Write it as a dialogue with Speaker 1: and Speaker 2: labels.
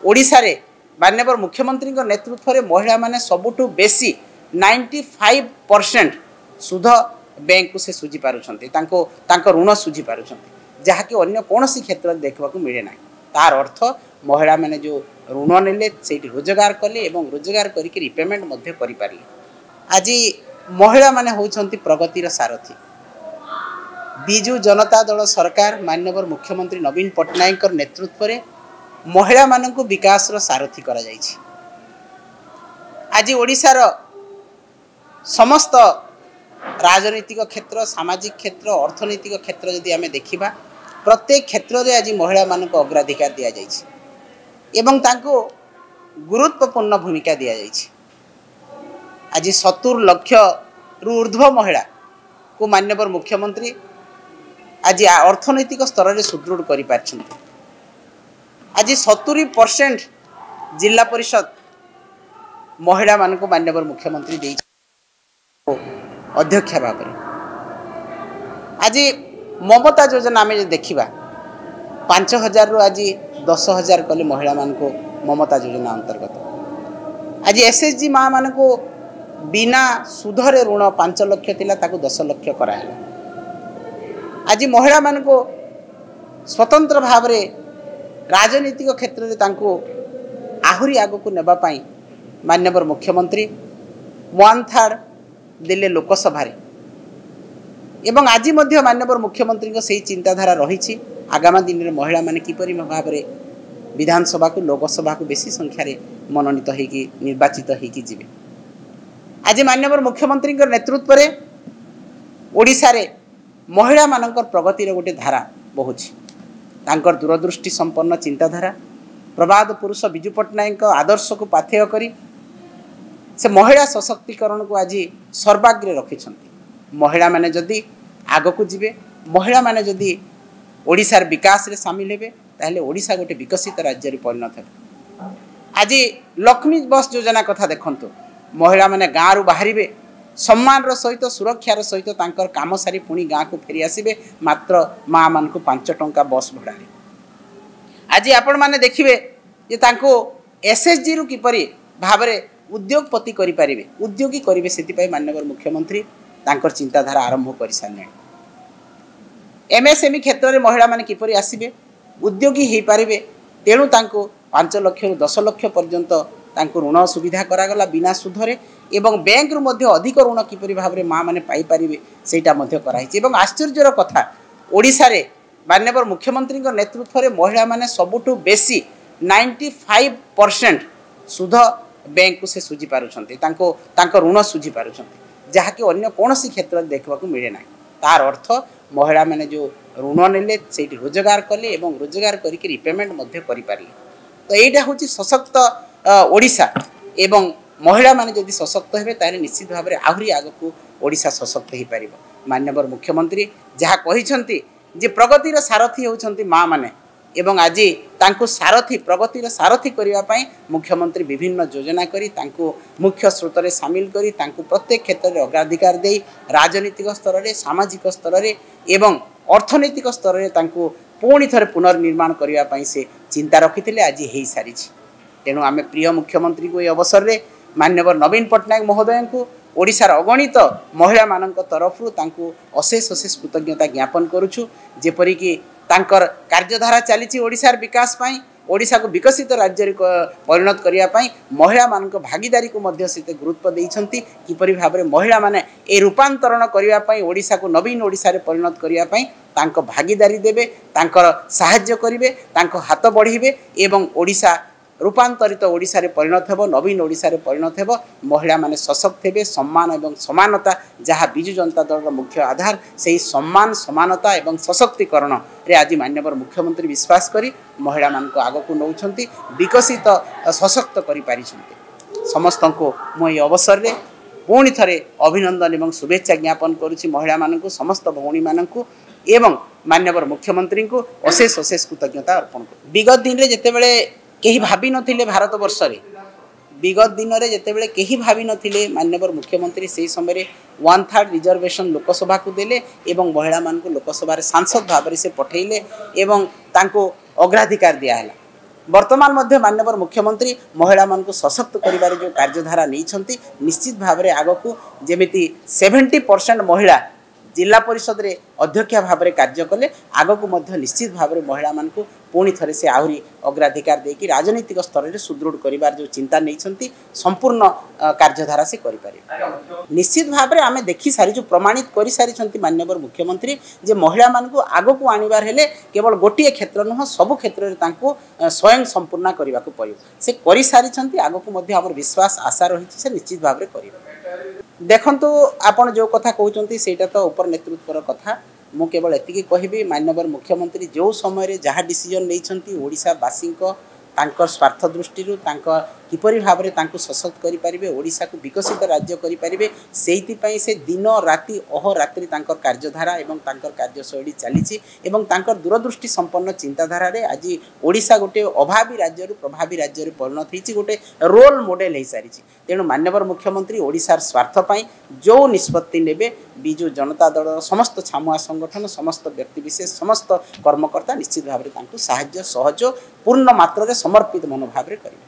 Speaker 1: ଓଡ଼ିଶାରେ ମାନ୍ୟବର ମୁଖ୍ୟମନ୍ତ୍ରୀଙ୍କ ନେତୃତ୍ୱରେ ମହିଳାମାନେ ସବୁଠୁ ବେଶୀ 95% ସୁଧ ବ୍ୟାଙ୍କକୁ ସେ ସୁଝି ପାରୁଛନ୍ତି, ତାଙ୍କୁ ତାଙ୍କ ଋଣ ସୁଝି ପାରୁଛନ୍ତି, ଯାହାକି ଅନ୍ୟ କୌଣସି କ୍ଷେତ୍ରରେ ଦେଖିବାକୁ ମିଳେ ନାହିଁ। ତାର ଅର୍ଥ ମହିଳାମାନେ ଯେଉଁ ଋଣ ନେଲେ ସେଇଠି ରୋଜଗାର କଲେ ଏବଂ ରୋଜଗାର କରିକି ରିପେମେଣ୍ଟ ମଧ୍ୟ କରିପାରିଲେ। ଆଜି ମହିଳାମାନେ ହେଉଛନ୍ତି ପ୍ରଗତିର ସାରଥୀ। ବିଜୁ ଜନତା ଦଳ ସରକାର ମାନ୍ୟବର ମୁଖ୍ୟମନ୍ତ୍ରୀ ନବୀନ ପଟ୍ଟନାୟକଙ୍କ ନେତୃତ୍ୱରେ ମହିଳାମାନଙ୍କୁ ବିକାଶର ସାରଥୀ କରାଯାଇଛି। ଆଜି ଓଡ଼ିଶାର ସମସ୍ତ ରାଜନୈତିକ କ୍ଷେତ୍ର, ସାମାଜିକ କ୍ଷେତ୍ର, ଅର୍ଥନୈତିକ କ୍ଷେତ୍ର ଯଦି ଆମେ ଦେଖିବା, ପ୍ରତ୍ୟେକ କ୍ଷେତ୍ରରେ ଆଜି ମହିଳାମାନଙ୍କୁ ଅଗ୍ରାଧିକାର ଦିଆଯାଇଛି ଏବଂ ତାଙ୍କୁ ଗୁରୁତ୍ୱପୂର୍ଣ୍ଣ ଭୂମିକା ଦିଆଯାଇଛି। ଆଜି 70 ଲକ୍ଷରୁ ଉର୍ଦ୍ଧ୍ୱ ମହିଳାକୁ ମାନ୍ୟବର ମୁଖ୍ୟମନ୍ତ୍ରୀ ଆଜି ଅର୍ଥନୈତିକ ସ୍ତରରେ ସୁଦୃଢ଼ କରିପାରିଛନ୍ତି। ଆଜି 70% ଜିଲ୍ଲା ପରିଷଦ ମହିଳାମାନଙ୍କୁ ମାନ୍ୟବର ମୁଖ୍ୟମନ୍ତ୍ରୀ ଦେଇଛନ୍ତି ଅଧ୍ୟକ୍ଷା ଭାବରେ। ଆଜି ମମତା ଯୋଜନା ଆମେ ଯଦି ଦେଖିବା, 5,000ରୁ ଆଜି 10,000 କଲେ ମହିଳାମାନଙ୍କୁ ମମତା ଯୋଜନା ଅନ୍ତର୍ଗତ। ଆଜି ଏସ୍ ଏଚ୍ ଜି ମାଆମାନଙ୍କୁ ବିନା ସୁଧରେ ଋଣ 5 ଲକ୍ଷ ଥିଲା, ତାକୁ 10 ଲକ୍ଷ କରାହେଲା। ଆଜି ମହିଳାମାନଙ୍କୁ ସ୍ୱତନ୍ତ୍ର ଭାବରେ ରାଜନୈତିକ କ୍ଷେତ୍ରରେ ତାଙ୍କୁ ଆହୁରି ଆଗକୁ ନେବା ପାଇଁ ମାନ୍ୟବର ମୁଖ୍ୟମନ୍ତ୍ରୀ 1/3 ଦେଲେ ଲୋକସଭାରେ, ଏବଂ ଆଜି ମଧ୍ୟ ମାନ୍ୟବର ମୁଖ୍ୟମନ୍ତ୍ରୀଙ୍କ ସେଇ ଚିନ୍ତାଧାରା ରହିଛି ଆଗାମୀ ଦିନରେ ମହିଳାମାନେ କିପରି ଭାବରେ ବିଧାନସଭାକୁ, ଲୋକସଭାକୁ ବେଶୀ ସଂଖ୍ୟାରେ ମନୋନୀତ ହେଇକି ନିର୍ବାଚିତ ହେଇକି ଯିବେ। ଆଜି ମାନ୍ୟବର ମୁଖ୍ୟମନ୍ତ୍ରୀଙ୍କ ନେତୃତ୍ୱରେ ଓଡ଼ିଶାରେ ମହିଳାମାନଙ୍କର ପ୍ରଗତିର ଗୋଟେ ଧାରା ବହୁଛି। ତାଙ୍କର ଦୂରଦୃଷ୍ଟି ସମ୍ପନ୍ନ ଚିନ୍ତାଧାରା, ପ୍ରବାଦ ପୁରୁଷ ବିଜୁ ପଟ୍ଟନାୟକଙ୍କ ଆଦର୍ଶକୁ ପାଥେୟ କରି ସେ ମହିଳା ସଶକ୍ତିକରଣକୁ ଆଜି ସର୍ବାଗ୍ରେ ରଖିଛନ୍ତି। ମହିଳାମାନେ ଯଦି ଆଗକୁ ଯିବେ, ମହିଳାମାନେ ଯଦି ଓଡ଼ିଶାର ବିକାଶରେ ସାମିଲ ହେବେ, ତାହେଲେ ଓଡ଼ିଶା ଗୋଟେ ବିକଶିତ ରାଜ୍ୟରେ ପରିଣତ ହେବ। ଆଜି ଲକ୍ଷ୍ମୀ ବସ୍ ଯୋଜନା କଥା ଦେଖନ୍ତୁ, ମହିଳାମାନେ ଗାଁରୁ ବାହାରିବେ ସମ୍ମାନର ସହିତ, ସୁରକ୍ଷାର ସହିତ ତାଙ୍କର କାମ ସାରି ପୁଣି ଗାଁକୁ ଫେରି ଆସିବେ ମାତ୍ର ମାଆମାନଙ୍କୁ 5 ଟଙ୍କା ବସ୍ ଭଡ଼ାରେ। ଆଜି ଆପଣମାନେ ଦେଖିବେ ଯେ ତାଙ୍କୁ ଏସ୍ଏଚ୍ଜିରୁ କିପରି ଭାବରେ ଉଦ୍ୟୋଗପତି କରିପାରିବେ, ଉଦ୍ୟୋଗୀ କରିବେ, ସେଥିପାଇଁ ମାନ୍ୟବର ମୁଖ୍ୟମନ୍ତ୍ରୀ ତାଙ୍କର ଚିନ୍ତାଧାରା ଆରମ୍ଭ କରିସାରିଲେଣି। ଏମ୍ଏସ୍ଏମ୍ଇ କ୍ଷେତ୍ରରେ ମହିଳାମାନେ କିପରି ଆସିବେ, ଉଦ୍ୟୋଗୀ ହୋଇପାରିବେ, ତେଣୁ ତାଙ୍କୁ 5 ଲକ୍ଷରୁ 10 ଲକ୍ଷ ପର୍ଯ୍ୟନ୍ତ ତାଙ୍କୁ ଋଣ ସୁବିଧା କରାଗଲା ବିନା ସୁଧରେ, ଏବଂ ବ୍ୟାଙ୍କରୁ ମଧ୍ୟ ଅଧିକ ଋଣ କିପରି ଭାବରେ ମାଆମାନେ ପାଇପାରିବେ ସେଇଟା ମଧ୍ୟ କରାହେଇଛି। ଏବଂ ଆଶ୍ଚର୍ଯ୍ୟର କଥା, ଓଡ଼ିଶାରେ ମାନ୍ୟବର ମୁଖ୍ୟମନ୍ତ୍ରୀଙ୍କ ନେତୃତ୍ୱରେ ମହିଳାମାନେ ସବୁଠୁ ବେଶୀ 95% ସୁଧ ବ୍ୟାଙ୍କକୁ ସେ ସୁଝି ପାରୁଛନ୍ତି, ତାଙ୍କୁ ତାଙ୍କ ଋଣ ସୁଝି ପାରୁଛନ୍ତି, ଯାହାକି ଅନ୍ୟ କୌଣସି କ୍ଷେତ୍ରରେ ଦେଖିବାକୁ ମିଳେ ନାହିଁ। ତାର ଅର୍ଥ ମହିଳାମାନେ ଯେଉଁ ଋଣ ନେଲେ ସେଇଠି ରୋଜଗାର କଲେ ଏବଂ ରୋଜଗାର କରିକି ରିପେମେଣ୍ଟ ମଧ୍ୟ କରିପାରିଲେ। ତ ଏଇଟା ହେଉଛି ସଶକ୍ତ ଓଡ଼ିଶା, ଏବଂ ମହିଳାମାନେ ଯଦି ସଶକ୍ତ ହେବେ ତାହେଲେ ନିଶ୍ଚିତ ଭାବରେ ଆହୁରି ଆଗକୁ ଓଡ଼ିଶା ସଶକ୍ତ ହୋଇପାରିବ। ମାନ୍ୟବର ମୁଖ୍ୟମନ୍ତ୍ରୀ ଯାହା କହିଛନ୍ତି ଯେ ପ୍ରଗତିର ସାରଥୀ ହେଉଛନ୍ତି ମାଆମାନେ, ଏବଂ ଆଜି ତାଙ୍କୁ ସାରଥୀ, ପ୍ରଗତିର ସାରଥୀ କରିବା ପାଇଁ ମୁଖ୍ୟମନ୍ତ୍ରୀ ବିଭିନ୍ନ ଯୋଜନା କରି ତାଙ୍କୁ ମୁଖ୍ୟ ସ୍ରୋତରେ ସାମିଲ କରି ତାଙ୍କୁ ପ୍ରତ୍ୟେକ କ୍ଷେତ୍ରରେ ଅଗ୍ରାଧିକାର ଦେଇ ରାଜନୈତିକ ସ୍ତରରେ, ସାମାଜିକ ସ୍ତରରେ ଏବଂ ଅର୍ଥନୈତିକ ସ୍ତରରେ ତାଙ୍କୁ ପୁଣି ଥରେ ପୁନର୍ନିର୍ମାଣ କରିବା ପାଇଁ ସେ ଚିନ୍ତା ରଖିଥିଲେ, ଆଜି ହେଇସାରିଛି। ତେଣୁ ଆମେ ପ୍ରିୟ ମୁଖ୍ୟମନ୍ତ୍ରୀଙ୍କୁ ଏହି ଅବସରରେ ମାନ୍ୟବର ନବୀନ ପଟ୍ଟନାୟକ ମହୋଦୟଙ୍କୁ ଓଡ଼ିଶାର ଅଗଣିତ ମହିଳାମାନଙ୍କ ତରଫରୁ ତାଙ୍କୁ ଅଶେଷ ଅଶେଷ କୃତଜ୍ଞତା ଜ୍ଞାପନ କରୁଛୁ। ଯେପରିକି ତାଙ୍କର କାର୍ଯ୍ୟଧାରା ଚାଲିଛି ଓଡ଼ିଶାର ବିକାଶ ପାଇଁ, ଓଡ଼ିଶାକୁ ବିକଶିତ ରାଜ୍ୟରେ ପରିଣତ କରିବା ପାଇଁ ମହିଳାମାନଙ୍କ ଭାଗିଦାରୀକୁ ମଧ୍ୟ ସେତେ ଗୁରୁତ୍ୱ ଦେଇଛନ୍ତି। କିପରି ଭାବରେ ମହିଳାମାନେ ଏ ରୂପାନ୍ତରଣ କରିବା ପାଇଁ, ଓଡ଼ିଶାକୁ ନବୀନ ଓଡ଼ିଶାରେ ପରିଣତ କରିବା ପାଇଁ ତାଙ୍କ ଭାଗିଦାରୀ ଦେବେ, ତାଙ୍କର ସାହାଯ୍ୟ କରିବେ, ତାଙ୍କ ହାତ ବଢ଼େଇବେ ଏବଂ ଓଡ଼ିଶା ରୂପାନ୍ତରିତ ଓଡ଼ିଶାରେ ପରିଣତ ହେବ, ନବୀନ ଓଡ଼ିଶାରେ ପରିଣତ ହେବ। ମହିଳାମାନେ ସଶକ୍ତ ହେବେ। ସମ୍ମାନ ଏବଂ ସମାନତା ଯାହା ବିଜୁ ଜନତା ଦଳର ମୁଖ୍ୟ ଆଧାର, ସେହି ସମ୍ମାନ, ସମାନତା ଏବଂ ସଶକ୍ତିକରଣରେ ଆଜି ମାନ୍ୟବର ମୁଖ୍ୟମନ୍ତ୍ରୀ ବିଶ୍ୱାସ କରି ମହିଳାମାନଙ୍କୁ ଆଗକୁ ନେଉଛନ୍ତି, ବିକଶିତ ସଶକ୍ତ କରିପାରିଛନ୍ତି। ସମସ୍ତଙ୍କୁ ମୁଁ ଏହି ଅବସରରେ ପୁଣି ଥରେ ଅଭିନନ୍ଦନ ଏବଂ ଶୁଭେଚ୍ଛା ଜ୍ଞାପନ କରୁଛି ମହିଳାମାନଙ୍କୁ, ସମସ୍ତ ଭଉଣୀମାନଙ୍କୁ ଏବଂ ମାନ୍ୟବର ମୁଖ୍ୟମନ୍ତ୍ରୀଙ୍କୁ ଅଶେଷ ଅଶେଷ କୃତଜ୍ଞତା ଅର୍ପଣ କରୁଛି। ବିଗତ ଦିନରେ ଯେତେବେଳେ କେହି ଭାବିନଥିଲେ ଭାରତବର୍ଷରେ, ବିଗତ ଦିନରେ ଯେତେବେଳେ କେହି ଭାବିନଥିଲେ, ମାନ୍ୟବର ମୁଖ୍ୟମନ୍ତ୍ରୀ ସେହି ସମୟରେ 1/3 ରିଜର୍ଭେସନ୍ ଲୋକସଭାକୁ ଦେଲେ ଏବଂ ମହିଳାମାନଙ୍କୁ ଲୋକସଭାରେ ସାଂସଦ ଭାବରେ ସେ ପଠାଇଲେ ଏବଂ ତାଙ୍କୁ ଅଗ୍ରାଧିକାର ଦିଆହେଲା। ବର୍ତ୍ତମାନ ମଧ୍ୟ ମାନ୍ୟବର ମୁଖ୍ୟମନ୍ତ୍ରୀ ମହିଳାମାନଙ୍କୁ ସଶକ୍ତ କରିବାରେ ଯେଉଁ କାର୍ଯ୍ୟଧାରା ନେଇଛନ୍ତି, ନିଶ୍ଚିତ ଭାବରେ ଆଗକୁ ଯେମିତି 70% ମହିଳା ଜିଲ୍ଲା ପରିଷଦରେ ଅଧ୍ୟକ୍ଷା ଭାବରେ କାର୍ଯ୍ୟ କଲେ, ଆଗକୁ ମଧ୍ୟ ନିଶ୍ଚିତ ଭାବରେ ମହିଳାମାନଙ୍କୁ ପୁଣି ଥରେ ସେ ଆହୁରି ଅଗ୍ରାଧିକାର ଦେଇକି ରାଜନୈତିକ ସ୍ତରରେ ସୁଦୃଢ଼ କରିବାର ଯେଉଁ ଚିନ୍ତା ନେଇଛନ୍ତି, ସମ୍ପୂର୍ଣ୍ଣ କାର୍ଯ୍ୟଧାରା ସେ କରିପାରିବେ। ନିଶ୍ଚିତ ଭାବରେ ଆମେ ଦେଖି ସାରିଛୁ, ପ୍ରମାଣିତ କରିସାରିଛନ୍ତି ମାନ୍ୟବର ମୁଖ୍ୟମନ୍ତ୍ରୀ ଯେ ମହିଳାମାନଙ୍କୁ ଆଗକୁ ଆଣିବାର ହେଲେ କେବଳ ଗୋଟିଏ କ୍ଷେତ୍ର ନୁହଁ, ସବୁ କ୍ଷେତ୍ରରେ ତାଙ୍କୁ ସ୍ୱୟଂ ସମ୍ପୂର୍ଣ୍ଣ କରିବାକୁ ପଡ଼ିବ। ସେ କରିସାରିଛନ୍ତି, ଆଗକୁ ମଧ୍ୟ ଆମର ବିଶ୍ୱାସ ଆଶା ରହିଛି ସେ ନିଶ୍ଚିତ ଭାବରେ କରିବେ। ଦେଖନ୍ତୁ, ଆପଣ ଯେଉଁ କଥା କହୁଛନ୍ତି ସେଇଟା ତ ଉପର ନେତୃତ୍ୱର କଥା। ମୁଁ କେବଳ ଏତିକି କହିବି, ମାନ୍ୟବର ମୁଖ୍ୟମନ୍ତ୍ରୀ ଯେଉଁ ସମୟରେ ଯାହା ଡିସିଜନ୍ ନେଇଛନ୍ତି, ଓଡ଼ିଶାବାସୀଙ୍କ ତାଙ୍କ ସ୍ୱାର୍ଥ ଦୃଷ୍ଟିରୁ, ତାଙ୍କ କିପରି ଭାବରେ ତାଙ୍କୁ ସଶକ୍ତ କରିପାରିବେ, ଓଡ଼ିଶାକୁ ବିକଶିତ ରାଜ୍ୟ କରିପାରିବେ, ସେଇଥିପାଇଁ ସେ ଦିନ ରାତି ଅହରାତ୍ରି ତାଙ୍କର କାର୍ଯ୍ୟଧାରା ଏବଂ ତାଙ୍କର କାର୍ଯ୍ୟଶୈଳୀ ଚାଲିଛି। ଏବଂ ତାଙ୍କର ଦୂରଦୃଷ୍ଟି ସମ୍ପନ୍ନ ଚିନ୍ତାଧାରାରେ ଆଜି ଓଡ଼ିଶା ଗୋଟିଏ ଅଭାବୀ ରାଜ୍ୟରୁ ପ୍ରଭାବୀ ରାଜ୍ୟରେ ପରିଣତ ହେଇଛି, ଗୋଟେ ରୋଲ୍ ମଡେଲ ହେଇସାରିଛି। ତେଣୁ ମାନ୍ୟବର ମୁଖ୍ୟମନ୍ତ୍ରୀ ଓଡ଼ିଶାର ସ୍ୱାର୍ଥ ପାଇଁ ଯେଉଁ ନିଷ୍ପତ୍ତି ନେବେ, ବିଜୁ ଜନତା ଦଳର ସମସ୍ତ ଛାମୁଆ ସଂଗଠନ, ସମସ୍ତ ବ୍ୟକ୍ତିବିଶେଷ, ସମସ୍ତ କର୍ମକର୍ତ୍ତା ନିଶ୍ଚିତ ଭାବରେ ତାଙ୍କୁ ସାହାଯ୍ୟ ସହଯୋଗ ପୂର୍ଣ୍ଣ ମାତ୍ରାରେ ସମର୍ପିତ ମନୋଭାବରେ କରିବେ।